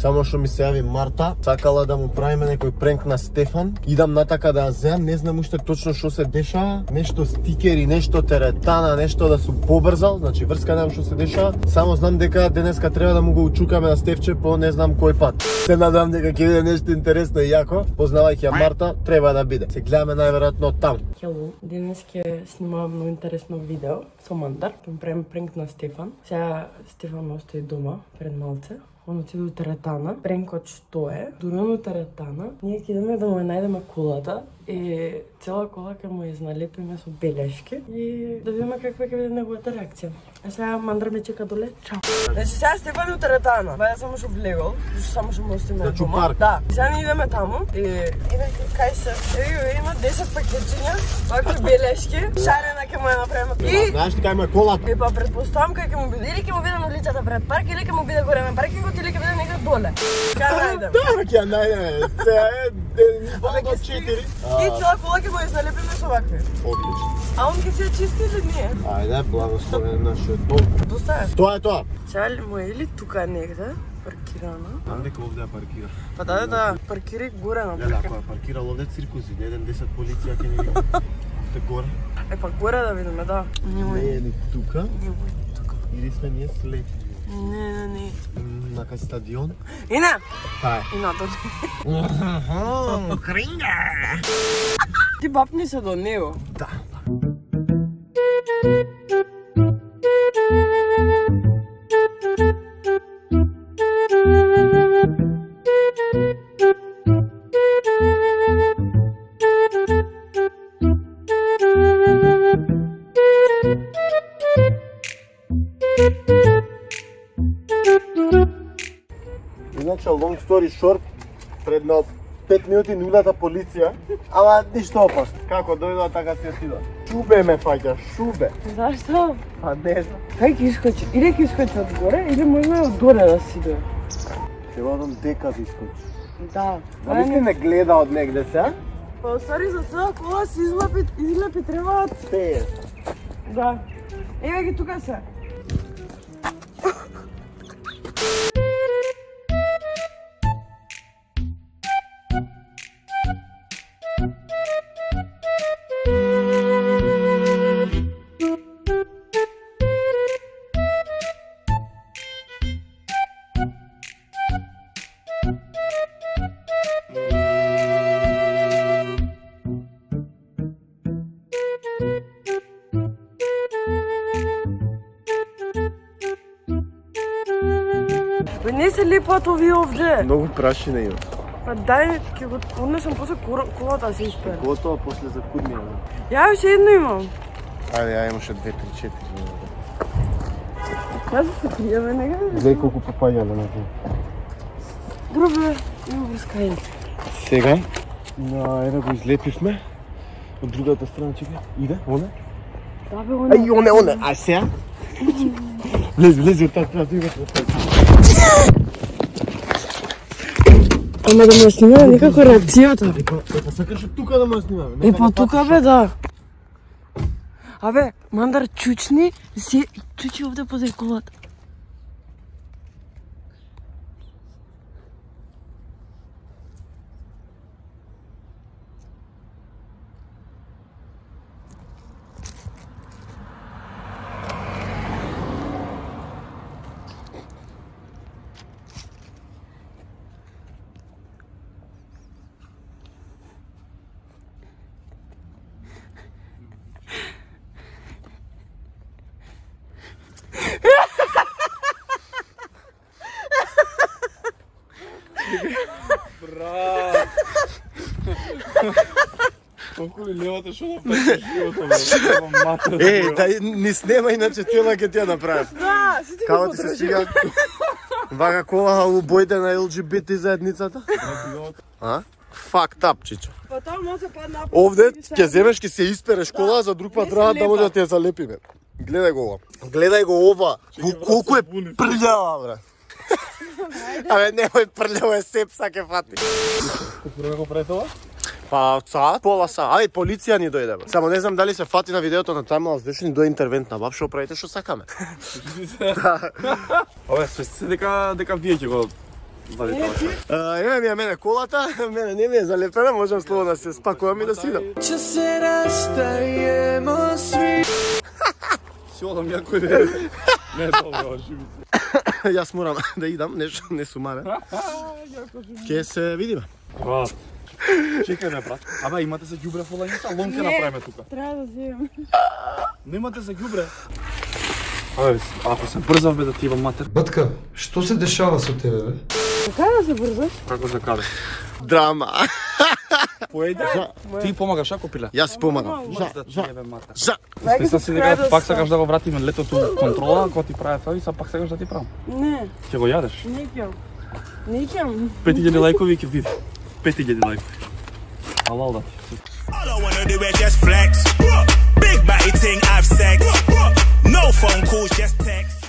Само што ми се јави Марта, сакала да му правиме некој пренк на Стефан. Идам натака да ја земам, не знам уште точно што се деша, нешто стикери, нешто теретана, нешто да сум побрзал, значи врска немам што се деша. Само знам дека денеска треба да му го учукаме на Стефче по не знам кој пат. Се надам дека ќе биде нешто интересно и јако. Познавајќи ја Марта, треба да биде. Се гледаме најверојатно там. Хело, денес ќе снимавам многу интересно видео со Мандар. Ќе правиме пренк на Стефан. Сега Стефан остои дома пред малце. Он отиде до теретана. Пренкот што е? Дури на теретана. Ние ќе идеме да му ја најдеме колата и цела кола ќе му ја изналепиме со белешки и да видиме каква ќе биде неговата реакција. А сега Мандар ме чека доле. Чао. Значи сега Стефан е теретана. Баја само што влегол, само што му остиме дома. Парк. Да. Сега ни идеме таму и кај се. Има 10 пакетчиња, вакви белешки, шарена ќе му ја направиме. И знаеш кај ме колата? Па предпоставам кај ќе му биде или ќе му биде на улицата пред парк или ќе му биде горе на паркингот или ќе биде некаде доле. Кај најдем? Да, ќе ја најдеме. Сега е 2 до 4. И цела кола ќе му ја изналепиме со вакви. Одлично. А он ќе се ја чисти или ние? Ајде, благословен нашиот Бог. Доста е. Тоа е тоа. Сега ли му е или тука негде паркирано? Знам дека овде ја паркира. Па да, паркирај горе на Гледа, паркинг. ако ја паркирал овде циркуси, еден 10 полиција ќе ни види. Те горе. Е па горе да видиме, да. Не е ни тука. Не е тука. Или сме ние слепи. Не. На кај стадион. И не. Тај. И надолу. Кринга! Ти бапни се до него. Да. Иначе, long story short, пред на 5 минути нулата полиција, ама ништо опасно. Како дојдоа, така си отидоа. Шубе ме фаќа, шубе. Зашто? Па не знам. Кај ќе искочи? Или ќе искочи од горе, или можно од доле да си дое. Ќе водам дека да искочи. Да. А мисли не гледа од негде се? Па стари за цела кола си излепи требаат. Те. Да. Еве ги тука се. Бе, не се лепат овие овде. Многу прашина има. Па дај, ќе го однесам после колата да се испере. Готово после за куднија. Ја уште едно имам. Ајде, ја имаше 2, 3, 4. Кажа се криеме нега. Гледај колку папања на него. Добре, има врска и. Сега, на една го излепивме. Од другата страна, чекај. Иде, оне. Да бе, оне. Ај, оне. А сега? Влези од таа страна, другата страна. Ама да ме снимаме некако реакцијата. Епа, сакаш тука да ме снимаме? Епа тука бе, да. Абе, Мандар чучни, чучи овде покрај колата. Брат! Колку ли левата шо направиш живота, бе? Да не снема, иначе тела ќе ти ја направиш. Да, си ти Како ти се свига? Вака кола убојте на ЛГБТ заедницата? А? Fucked up, чичо. Па тоа може падна. Овде ќе земеш, ќе се испереш кола, за друг пат треба да може да ти ја залепиме. Гледај го ова. Гледај го ова. Колку е прљава, бре. Абе, немој прљаво е сепса ке фати. Како го прави тоа? Па, саат, пола саат. Ај, полиција ни дојде, бе. Само не знам дали се фати на видеото на таймлапс, беше ни дојде интервентна баб, шо правите, шо сакаме. Абе, свести се дека вие ќе го Вади тоа. Еве ми мене колата, мене не ми е залепена, можам слободно да се спакувам и да си идам. Че се растаемо сви. Си одам јако е. Не добро, живите. Јас морам да идам, нешто не сумаре. Ке се видиме. Брат. Чекај ме, брат. Абе, имате за ѓубре во лањица, ломка направиме тука. Треба да земам. Немате за ѓубре. Абе, ако се брзав бе да ти имам матер. Батка, што се дешава со тебе, бе? Така да се брзаш? Како се каде? Драма. Поеде? Ти помагаш ако пиле? Јас си помагам. За. Ти си дека пак сакаш да го вратиме летото контрола, кога ти прави фави, са пак сакаш да ти правам. Не. Ќе го јадеш? Не ќам. Не ќам. 5000 лајкови ќе види. 5000 лајкови. Алал да ти. All I wanna do is just flex. Big body ting, have sex. No phone calls, just text.